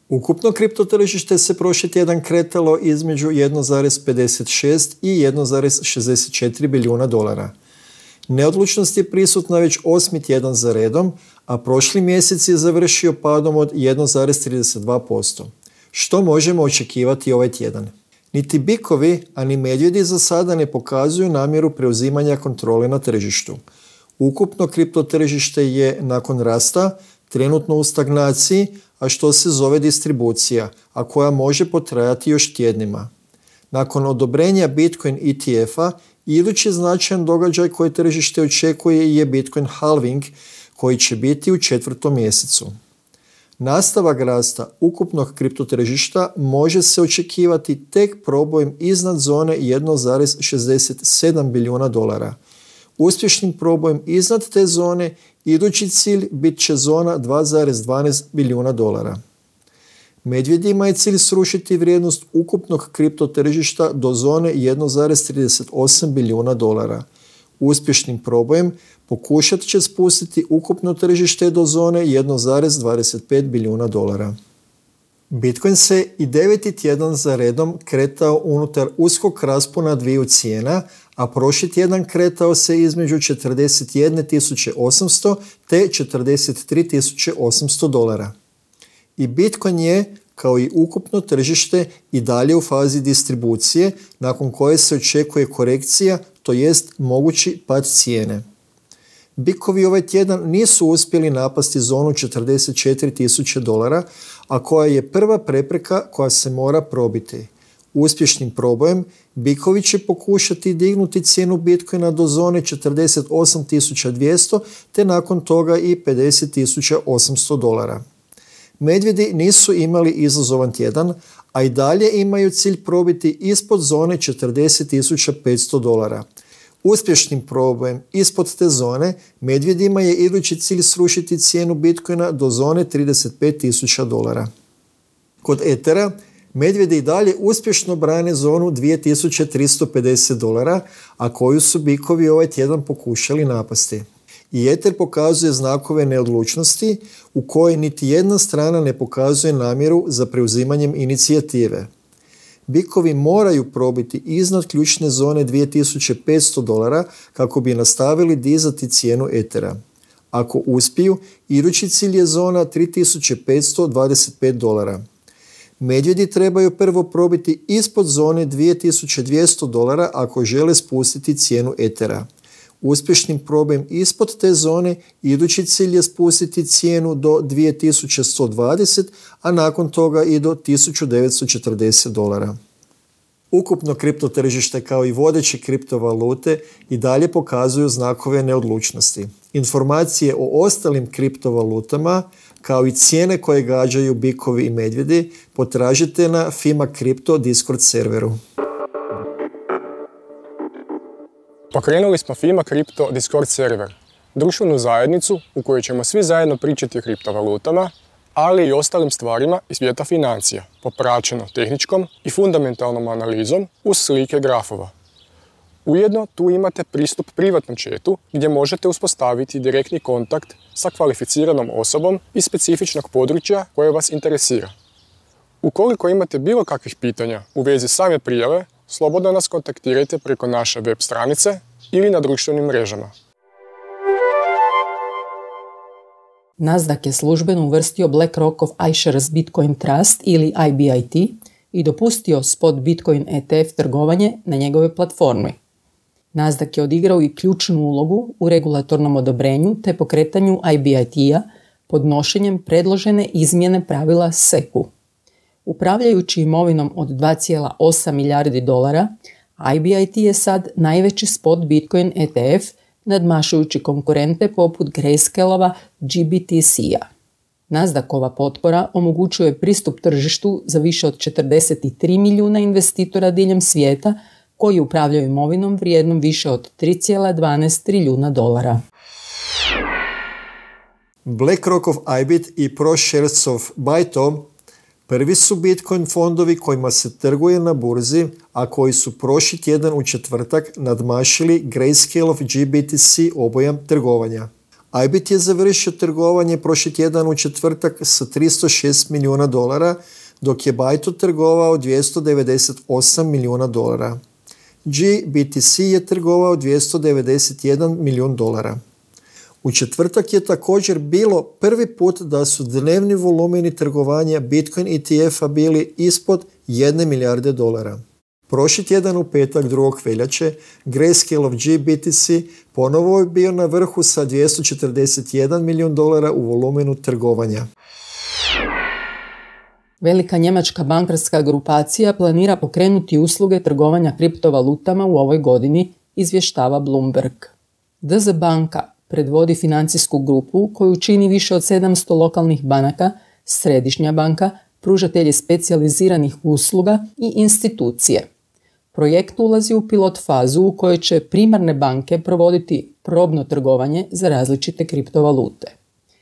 Ukupno kripto tržište se prošli tjedan kretalo između 1,56 i 1,64 bilijuna dolara. Neodlučnost je prisutna već 8. tjedan za redom, a prošli mjesec je završio padom od 1,32%. Što možemo očekivati ovaj tjedan? Niti bikovi, a ni medvjedi za sada ne pokazuju namjeru preuzimanja kontrole na tržištu. Ukupno kripto tržište je nakon rasta trenutno u stagnaciji, a što se zove distribucija, a koja može potrajati još tjednima. Nakon odobrenja Bitcoin ETF-a, idući značajan događaj koji tržište očekuje je Bitcoin halving, koji će biti u 4. mjesecu. Nastavak rasta ukupnog kriptotržišta može se očekivati tek probojem iznad zone 1,67 bilijuna dolara. Uspješnim probojem iznad te zone idući cilj bit će zona 2,12 bilijuna dolara. Medvjedima je cilj srušiti vrijednost ukupnog kriptotržišta do zone 1,38 bilijuna dolara. Uspješnim probojem pokušat će spustiti ukupno tržište do zone 1,25 bilijuna dolara. Bitcoin se i 9. tjedan za redom kretao unutar uskog raspona dviju cijena, a prošli tjedan kretao se između 41.800 te 43.800 dolara. I Bitcoin je, kao i ukupno tržište, i dalje u fazi distribucije, nakon koje se očekuje korekcija, to jest mogući pad cijene. Bikovi ovaj tjedan nisu uspjeli napasti zonu 44.000 dolara, a koja je prva prepreka koja se mora probiti. Uspješnim probojem bikovi će pokušati dignuti cijenu Bitcoina do zone 48.200 te nakon toga i 50.800 dolara. Medvjedi nisu imali izazovan tjedan, a i dalje imaju cilj probiti ispod zone 40.500 dolara. Uspješnim probojem ispod te zone medvjedima je idući cilj srušiti cijenu Bitcoina do zone 35.000 dolara. Kod Ethera medvjedi i dalje uspješno brane zonu 2350 dolara, a koju su bikovi ovaj tjedan pokušali napasti. I Ether pokazuje znakove neodlučnosti u kojoj niti jedna strana ne pokazuje namjeru za preuzimanjem inicijative. Bikovi moraju probiti iznad ključne zone 2500 dolara kako bi nastavili dizati cijenu Ethera. Ako uspiju, idući cilj je zona 3525 dolara. Medvjedi trebaju prvo probiti ispod zone 2200 dolara ako žele spustiti cijenu Ethera. Uspješnim probojem ispod te zone idući cilj je spustiti cijenu do 2120, a nakon toga i do 1940 dolara. Ukupno kriptotržište kao i vodeće kriptovalute i dalje pokazuju znakove neodlučnosti. Informacije o ostalim kriptovalutama kao i cijene koje gađaju bikovi i medvjedi potražite na FIMA Crypto Discord serveru. Pokrenuli smo FIMA Crypto Discord server, društvenu zajednicu u kojoj ćemo svi zajedno pričati o kriptovalutama, ali i ostalim stvarima iz svijeta financija, popraćeno tehničkom i fundamentalnom analizom uz slike grafova. Ujedno tu imate pristup privatnom chatu gdje možete uspostaviti direktni kontakt sa kvalificiranom osobom iz specifičnog područja koje vas interesira. Ukoliko imate bilo kakvih pitanja u vezi same prijave, slobodno nas kontaktirajte preko naše web stranice ili na društvenim mrežama. Nasdaq je službeno uvrstio BlackRockov iShares Bitcoin Trust ili IBIT i dopustio spot Bitcoin ETF trgovanje na njegove platformi. Nasdaq je odigrao i ključnu ulogu u regulatornom odobrenju te pokretanju IBIT-a podnošenjem predložene izmjene pravila SEC-u. Upravljajući imovinom od 2,8 milijardi dolara, IBIT je sad najveći spot Bitcoin ETF nadmašujući konkurente poput Grayscale-ova GBTC-a. Nasdaqova potpora omogućuje pristup tržištu za više od 43 milijuna investitora diljem svijeta koji upravljaju imovinom vrijednom više od 3,12 trilijuna dolara. BlackRockov IBIT i ProSharesov BITO Prvi su Bitcoin fondovi kojima se trguje na burzi, a koji su prošli tjedan u četvrtak nadmašili Grayscale GBTC obujam trgovanja. IBIT je završio trgovanje prošli tjedan u četvrtak sa $306 milijuna, dok je Baidu trgovao $298 milijuna. GBTC je trgovao $291 milijun. U četvrtak je također bilo prvi put da su dnevni volumeni trgovanja Bitcoin ETF-a bili ispod $1 milijarde. Prošli tjedan u petak 2. veljače Grayscale GBTC ponovo je bio na vrhu sa $241 milijun u volumenu trgovanja. Velika njemačka bankarska grupacija planira pokrenuti usluge trgovanja kriptovalutama u ovoj godini, izvještava Bloomberg. DZ banka predvodi financijsku grupu koju čini više od 700 lokalnih banaka, središnja banka, pružatelji specijaliziranih usluga i institucije. Projekt ulazi u pilot fazu u kojoj će primarne banke provoditi probno trgovanje za različite kriptovalute.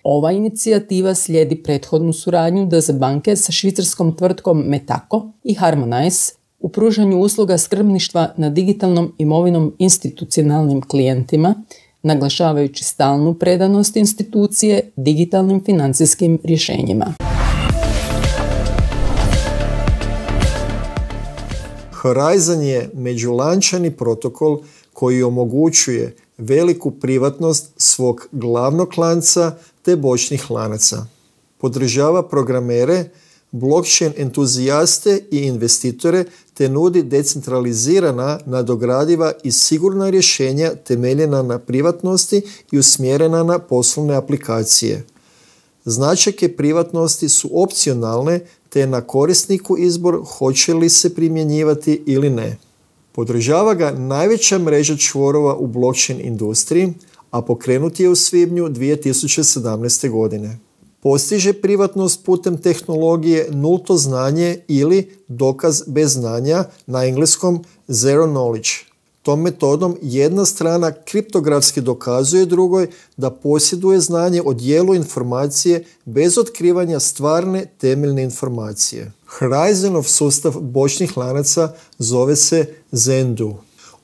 Ova inicijativa slijedi prethodnu suradnju DZ banke sa švicarskom tvrtkom Metaco i Harmonize u pružanju usluga skrbništva nad digitalnom imovinom institucionalnim klijentima, naglašavajući stalnu predanost institucije digitalnim financijskim rješenjima. Horizon je međulančani protokol koji omogućuje veliku privatnost svog glavnog lanca te bočnih lanaca. Podržava programere, blockchain entuzijaste i investitore te nudi decentralizirana, nadogradiva i sigurna rješenja temeljena na privatnosti i usmjerena na poslovne aplikacije. Značajke privatnosti su opcionalne te je na korisniku izbor hoće li se primjenjivati ili ne. Podržava ga najveća mreža čvorova u blockchain industriji, a pokrenut je u svibnju 2017. godine. Postiže privatnost putem tehnologije nulto znanje ili dokaz bez znanja, na engleskom zero knowledge. Tom metodom jedna strana kriptografski dokazuje drugoj da posjeduje znanje o dijelu informacije bez otkrivanja stvarne temeljne informacije. Horizonov sustav bočnih lanaca zove se Zendoo.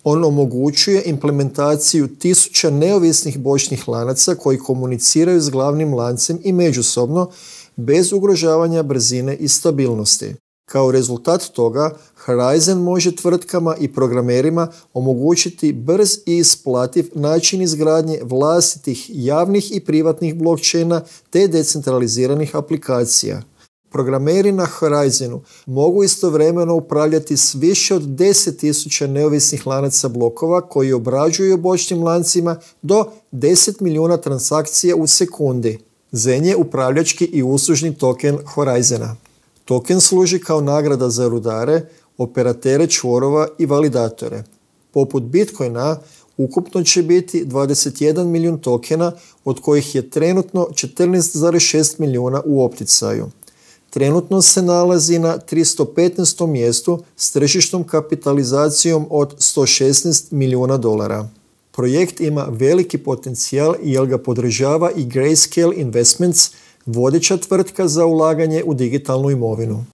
On omogućuje implementaciju 1000 neovisnih bočnih lanaca koji komuniciraju s glavnim lancem i međusobno bez ugrožavanja brzine i stabilnosti. Kao rezultat toga, Horizon može tvrtkama i programerima omogućiti brz i isplativ način izgradnje vlastitih javnih i privatnih blockchaina te decentraliziranih aplikacija. Programeri na Horizonu mogu istovremeno upravljati s više od 10.000 neovisnih lanaca blokova koji obrađuju bočnim lancima do 10 milijuna transakcija u sekundi. Zen je upravljački i uslužni token Horizona. Token služi kao nagrada za rudare, operatere čvorova i validatore. Poput Bitcoina, ukupno će biti 21 milijun tokena, od kojih je trenutno 14,6 milijuna u opticaju. Trenutno se nalazi na 315. mjestu s tržišnom kapitalizacijom od $116 milijuna. Projekt ima veliki potencijal jer ga podržava i Grayscale Investments, vodeća tvrtka za ulaganje u digitalnu imovinu.